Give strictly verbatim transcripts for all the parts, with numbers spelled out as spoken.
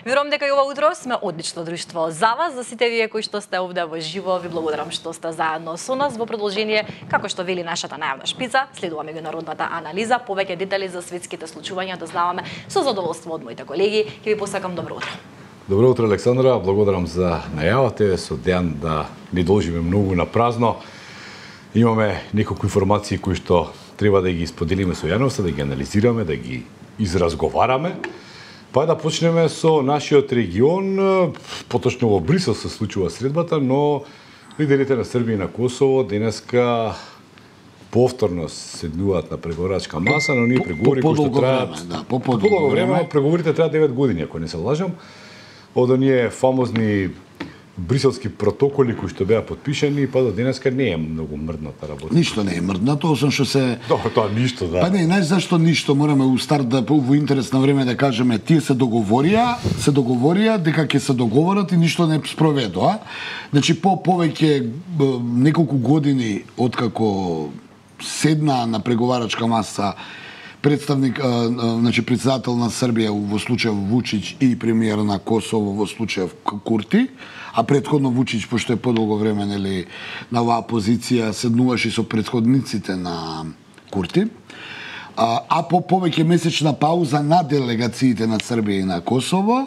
Верувам дека и ова утро сме одлично друштво за вас, за сите вие кои што сте овде во живо. Ви благодарам што сте заедно со нас во продолжение, како што вели нашата најавна шпица. Следува меѓународната анализа, повеќе детали за светските случувања да знаваме со задоволство од моите колеги. Ќе ви посакам добро утро. Добро утро, Александра. Благодарам за најавата. Со ден да не должиме многу на празно. Имаме неколку информации кои што треба да ги споделиме со јавноста, да ги анализираме, да ги изразговараме. Па да почнеме со нашиот регион, поточно во Брисел се случува средбата, но лидерите на Србија и на Косово денеска повторно седнуваат на преговарачка маса, но ние преговори кои што траат да, по подолго време, преговорите траат девет години, ако не се лажам. Од оние фамозни бриселски протоколи кои што беа подпишани, па до денеска не е многу мрдната работа. Ништо не е мрднато, освен што се Добро, тоа ништо, да. Па не, знаеш зашто ништо, мораме у старт да во интерес на време да кажеме, тие се договорија, се договорија дека ќе се договорат и ништо не спроведоа. Значи по повеќе неколку години откако седна на преговарачка маса представник, значи председател на Србија во случајов Вучич и премиер на Косово во случајов Курти, а претходно Вучич, пошто е подолго време нели на оваа позиција, седнуваше со претходниците на Курти, а, а по повеќе месечна пауза на делегациите на Србија и на Косово,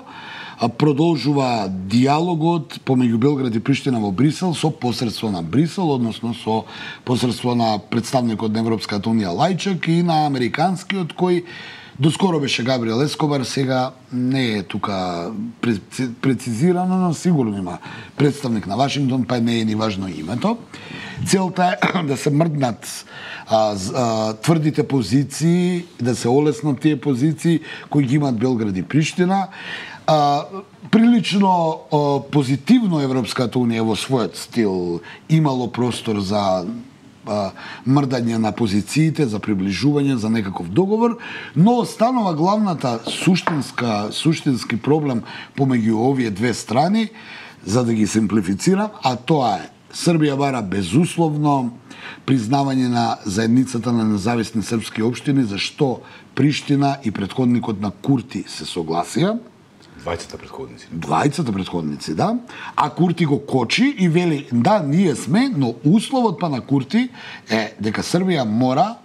продолжува диалогот помеѓу Белград и Приштина во Брисел со посредство на Брисел, односно со посредство на представникот на Европската унија Лајчак и на американскиот кој доскоро беше Габриел Ескобар, сега не е тука прецизирано, но сигурно има представник на Вашингтон, па не е ни важно името. Целта е да се мрднат а, а, тврдите позиции, да се олеснат тие позиции кои ги имат Белград и Приштина. А, прилично а, позитивно Европската унија во својот стил имало простор за а, мрдање на позициите, за приближување, за некаков договор, но останува главната суштинска, суштински проблем помеѓу овие две страни, за да ги симплифицирам, а тоа е Србија бара безусловно признавање на заедницата на независни српски општини, за што Приштина и претходникот на Курти се согласија. Двајцата претходници. Двајцата претходници, да. А Курти го кочи и вели, да, ние сме, но условот па на Курти е дека Србија мора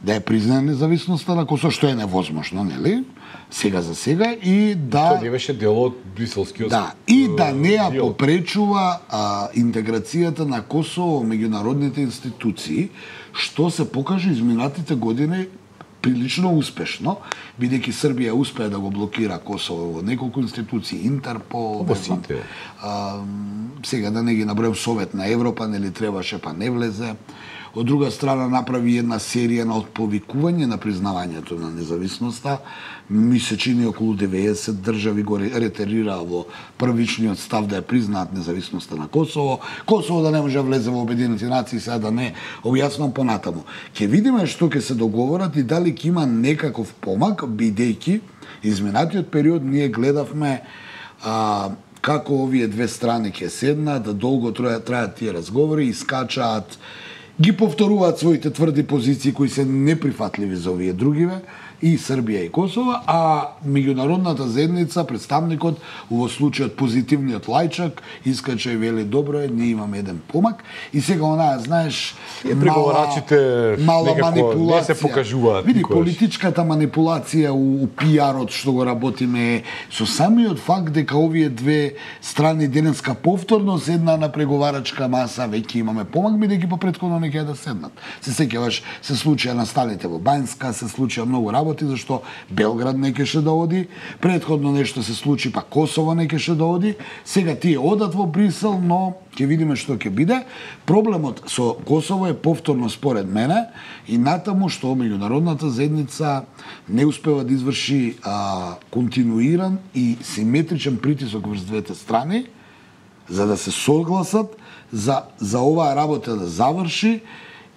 да ја признае независноста на Косово, што е невозможно, нели? Сега за сега и да... Тоа не беше дел од бриселскиот... Да, и да не ја попречува а, интеграцијата на Косово во меѓународните институции, што се покажа изминатите години прилично успешно, бидејќи Србија успеа да го блокира Косово во неколку институции, Интерпол, во сите. А, сега да не ги набројам, Совет на Европа, нели требаше, па не влезе. Од друга страна направи една серија на отповикување на признавањето на независноста. Ми се чини околу деветдесет држави го ретерира во првичниот став да ја признаат независноста на Косово. Косово да не може да влезе во Обединените нации, сега да не објаснам понатаму. Ќе видиме што ќе се договорат и дали ќе има некаков помак, бидејќи изминатиот период ние гледавме а, како овие две страни ќе седнат, да долго трајат, трајат тие разговори и скачаат, ги повторуваат своите тврди позиции кои се неприфатливи за овие другиве, и Србија и Косово, а меѓународната заедница, представникот, во случајот позитивниот Лајчак, искача и вели, добро е, ние имаме еден помак, и сега онаа, знаеш, преговарачите мала манипулација. Не се покажуваат. Види, политичката манипулација у, у пиарот што го работиме со самиот факт дека овие две страни денеска повторно седна на преговарачка маса, веќе имаме помак, бидејќи по претходно не ќе да седнат. Се сеќаваш, се случија настаните во Бањска, се случија многу работи, зашто Белград не кеше да оди, претходно нешто се случи, па Косово не кеше да оди, сега тие одат во Брисел, но ќе видиме што ќе биде. Проблемот со Косово е повторно според мене и натаму што меѓународната заедница не успева да изврши а, континуиран и симетричен притисок врз двете страни, за да се согласат за, за оваа работа да заврши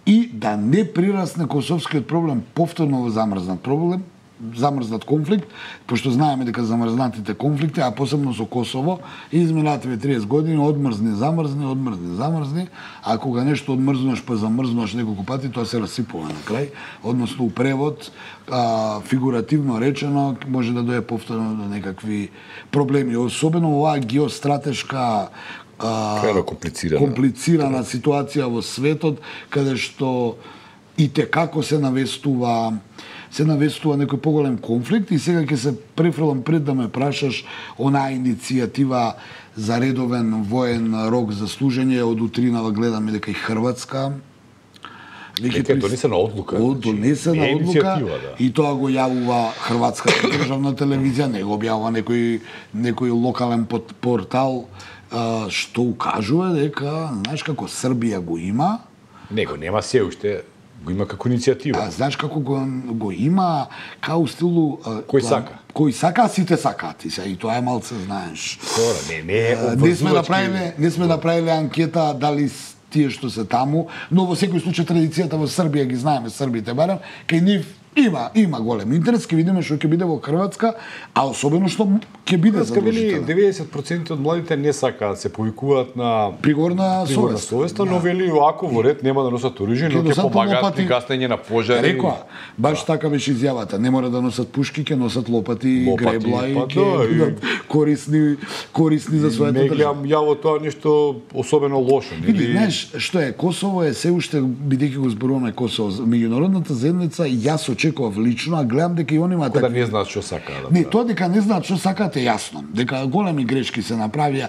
и да не прирасне косовскиот проблем повторно во замрзнат проблем, замрзнат конфликт, пошто знаеме дека замрзнатите конфликти, а посебно со Косово, изминативе триесет години одмрзни, замрзни, одмрзни, замрзни, а кога нешто одмрзнуваш па замрзнуваш неколку пати, тоа се расипува на крај, односно у превод, а, фигуративно речено, може да дое повторно до некакви проблеми, особено оваа геостратешка Крайно комплицирана. комплицирана ситуација во светот, каде што и те како се навестува се навестува некој поголем конфликт и сега ќе се префрлам пред да ме прашаш онаа иницијатива за редовен воен рок за служење од утринава гледаме дека и Хрватска Дека е донесена одлука. Од донесена значи, одлука да. И тоа го јавува Хрватската државна телевизија, не го објавува некој некој локален портал а, што укажува дека знаеш како Србија го има. Него нема се уште, го има како иницијатива. А знаеш како го, го има као стилу а, Кој план, сака? Кој сака, сите сакаат и се и тоа е малце знаеш. Тора, не, не е А, не сме направиле, не сме направиле анкета дали с- тие што се таму, но во секој случај традицијата во Србија ги знаеме србите барем, кај нив има има голем интерес, ќе видиме што ќе биде во Хрватска, а особено што ќе биде Ска вели задолжително. деветдесет проценти од младите не сакаат се повикуваат на Пригорна пригорна совест. совеста, но вели ако во ред нема да носат оружје, но Ќе ќе носат помагаат лопати. при гаснење на пожари. Рекоа, баш така беше изјавата. Не мора да носат пушки, ќе носат лопати, Лопати, гребла и па ќе да, и- бидат корисни корисни за својата Не држава. гледам ја во тоа нешто особено лошо, Види, нели? знаеш, што е, Косово е се уште, бидејќи го зборуваме Косово, меѓународната заедница, и јас очекував лично, а гледам дека и они имаат Да такви- не знаат што сакаат да Не, прават. тоа дека не знаат што сакаат е јасно. Дека големи грешки се направија.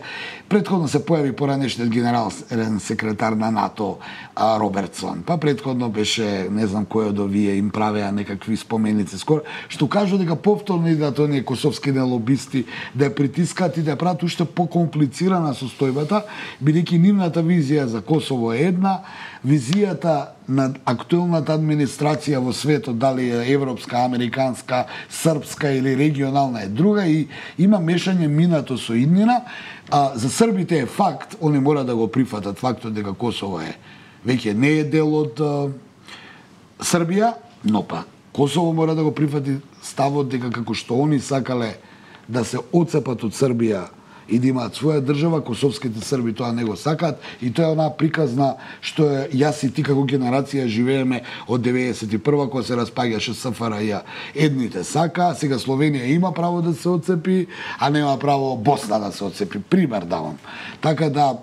Предходно се појави поранешниот генерален секретар на НАТО а, Робертсон. Па предходно беше, не знам кој од овие им правеа некакви споменици скоро, што кажу дека повторно идат оние косовски лобисти да ја притискаат и да ја прават уште покомплицирана состојбата, бидејќи нивната визија за Косово е една, визијата на актуелната администрација во светот, дали е европска, американска, српска или регионална е друга и има мешање минато со иднина. А за србите е факт, они мора да го прифатат фактот дека Косово е веќе не е дел од а, Србија, но па Косово мора да го прифати ставот дека како што они сакале да се отцепат од Србија и да имаат своја држава, косовските срби тоа не го сакаат и тоа е онаа приказна што е јас и ти како генерација живееме од деветдесет и прва кога се распаѓаше СФРЈ. Едните сака, сега Словенија има право да се отцепи, а нема право Босна да се отцепи. Пример давам. Така да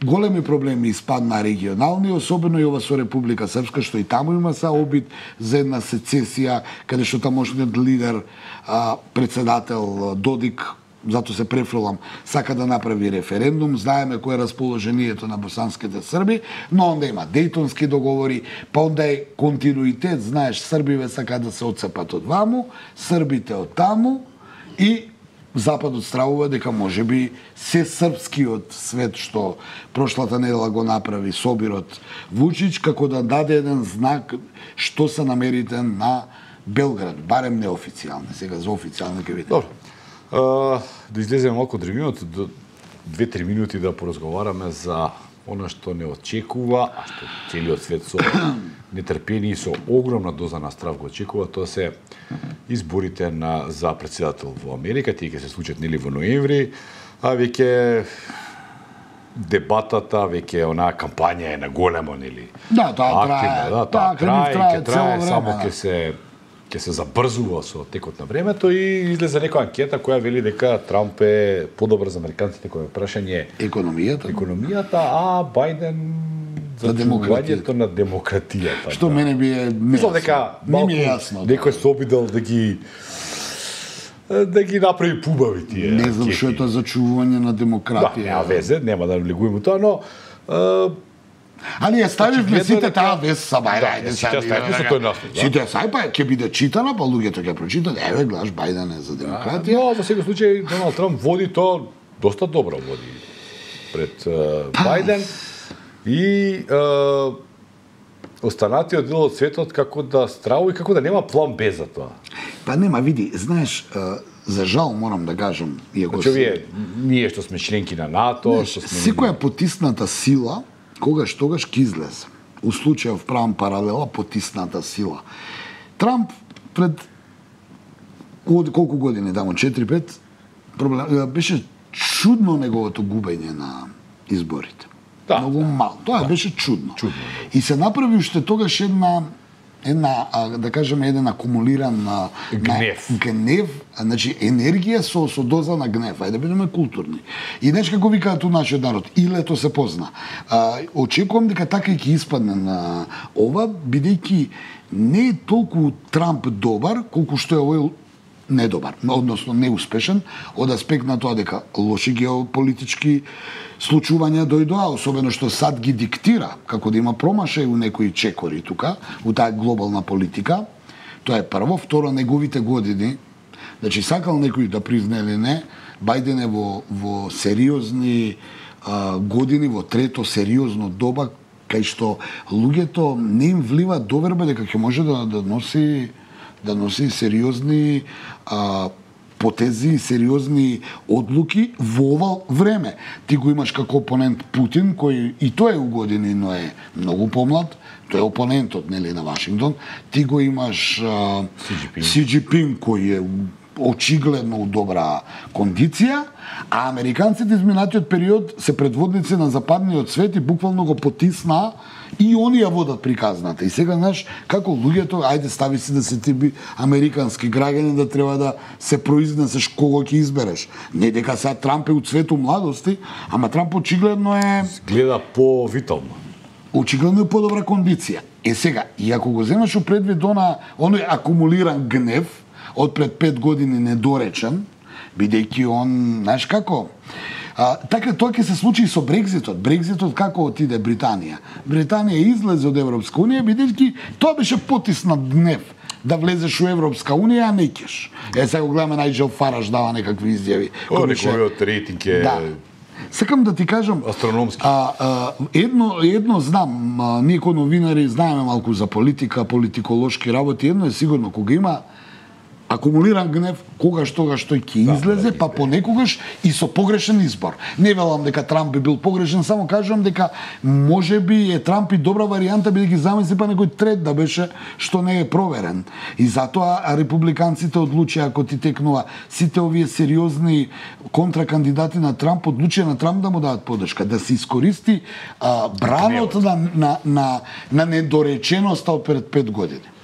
големи проблеми испадна регионални, особено и ова со Република Српска, што и таму има са обид за една сецесија, каде што тамошниот лидер, а, председател Додик, зато се префрлам, сака да направи референдум, знаеме кој е расположението на босанските срби, но онда има дејтонски договори, па онда е континуитет, знаеш, србиве сака да се отцепат од ваму, србите од таму и Западот стравува дека можеби се српскиот свет што прошлата недела го направи Собирот Вучич, како да даде еден знак што се намерите на Белград, барем неофицијално, сега за официјално ќе видиме. Добро. А, да излеземе малку од регионот, до две-три минути да поразговараме за она што не очекува, а што целиот свет со нетрпение и со огромна доза на страв го очекува, тоа се изборите на за претседател во Америка, тие ќе се случат нели во ноември, а веќе дебатата, веќе онаа кампања е на големо, нели? Да, тоа трае. Активна, да, Тоа тоа трае, трае ќе трае, цело само време, ќе се ќе се забрзува со текот на времето и излезе некоја анкета која вели дека Трамп е подобар за американците кога е прашање Економијата. економијата, а Бајден за демократијата. демократијата на демократијата. Што да. мене би е Мислам дека не ми е малку јасно. некој се обидел да ги да ги направи пубави тие. Не знам анкети. што е тоа зачувување на Да, демократија. нема везе, нема да влегуваме тоа, но а, Али ја ставивме Очигледно сите дека- таа вест са бајде, Да, ајде сите сега. ставивме со тој наслов, да. Сите сај па ќе биде читана, па луѓето ќе прочитат, еве глаш Бајден е за демократија. но во секој случај Доналд Трамп води тоа доста добро води пред uh, Бајден и uh, останатиот дел од светот како да стравува и како да нема план Б за тоа. Па нема, види, знаеш, а, за жал морам да кажам, иако Значи вие ние што сме членки на НАТО, знаеш, што сме секоја потисната сила когаш тогаш ќе излезе. У случајов правам паралела потисната сила. Трамп пред колку години дамо, четири пет, проблем, беше чудно неговото губење на изборите. Да, Многу да, мало. Тоа да. беше чудно. Чудно. И се направи уште тогаш една една да кажеме еден акумулиран на гнев. На, гнев, значи енергија со со доза на гнев. Ајде да бидеме културни. И знаеш како викаат у нашиот народ, и лето се позна. А, очекувам дека така и ќе испадне на ова, бидејќи не е толку Трамп добар колку што е овој недобар, односно неуспешен, од аспект на тоа дека лоши геополитички случувања дојдоа, особено што САД ги диктира, како да има промашај у некои чекори тука, у таа глобална политика. Тоа е прво. Второ, неговите години, значи сакал некој да признае или не, Бајден е во, во сериозни а, години, во трето сериозно доба, кај што луѓето не им влива доверба дека ќе може да, да носи да носи сериозни а, потези, сериозни одлуки во ова време. Ти го имаш како опонент Путин, кој и тој е у години, но е многу помлад, тој е опонентот, нели, на Вашингтон. Ти го имаш а, Си Џинпинг, кој е очигледно у добра кондиција, а американците изминатиот период се предводници на западниот свет и буквално го потиснаа и они ја водат приказната. И сега, знаеш, како луѓето, ајде стави си да се ти би американски граѓани, да треба да се произнесеш кого ќе избереш. Не дека сега Трамп е у цвету младости, ама Трамп очигледно е... Гледа по-витално. Очигледно е подобра кондиција. Е сега, и ако го земеш у предвид она, оној акумулиран гнев, од пред пет години недоречен, бидејќи он, знаеш како, а, така тоа ќе се случи и со Брекзитот. Брекзитот како отиде Британија? Британија излезе од Европска унија, бидејќи тоа беше потиснат гнев да влезеш у Европска унија, а не ќеш. Е, сега го гледаме, Најджел Фараш дава некакви изјави. О, неговиот рейтинг е... Да. Сакам да ти кажам, астрономски. А, а, едно едно знам, а, ние кои новинари знаеме малку за политика, политиколошки работи, едно е сигурно, кога има акумулиран гнев, когаш тогаш тој ќе излезе, па понекогаш и со погрешен избор. Не велам дека Трамп би бил погрешен, само кажувам дека може би е Трамп и добра варијанта, бидејќи замисли па некој трет да беше што не е проверен. И затоа републиканците одлучија, ако ти текнува сите овие сериозни контракандидати на Трамп, одлучија на Трамп да му дадат подршка, да се искористи а, бранот на, на, на, на недореченоста од пред пет години.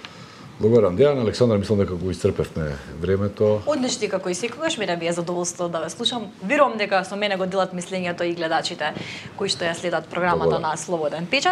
Благодарам, Дејан. Александра, мислам дека го исцрпевме времето. Одлични како и секогаш, мене би е задоволство да ве слушам. Верувам дека со мене го делат мислењето и гледачите кои што ја следат програмата на Слободен печат.